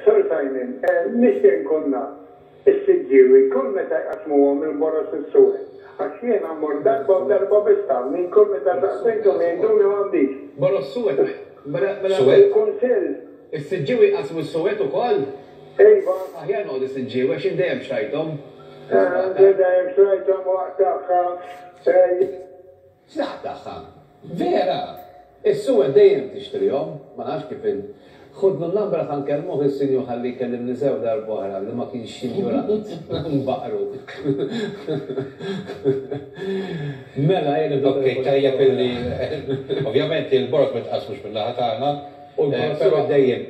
Sir Simon, nixtieq nkun naf, is-Siġġiewi kull meta jqassmuhom il-boroż is-suwed? Għax jiena mmur darba u darba biss tawni, kull meta saqsejthom jgħiduli m'għandix. Boroż suwed? Mela mela. Suwed? Il-Kunsill. Is-Siġġiewi jqassmu s-suwed ukoll? Iva. Aħjar noqgħod is-Siġġiewi għax jien dejjem xtrajthom. Inti dejjem xtrajthom waqt tagħha. X'naqt tagħha? Vera! Is-suwed dejjem tixtrihom, ma nafx kif in. Ħudlu n-number ħa nkellmuh is-sinjur ħalli jkellimni sew darb'oħra li ma kienx injurant. Nbaqru. Mela ejja nieħdu Ok, telefonata tajjeb oħra. illi ovvjament il-boroż ma jitqassmux min-naħa tagħna, U l-boroż però suwed? dejjem.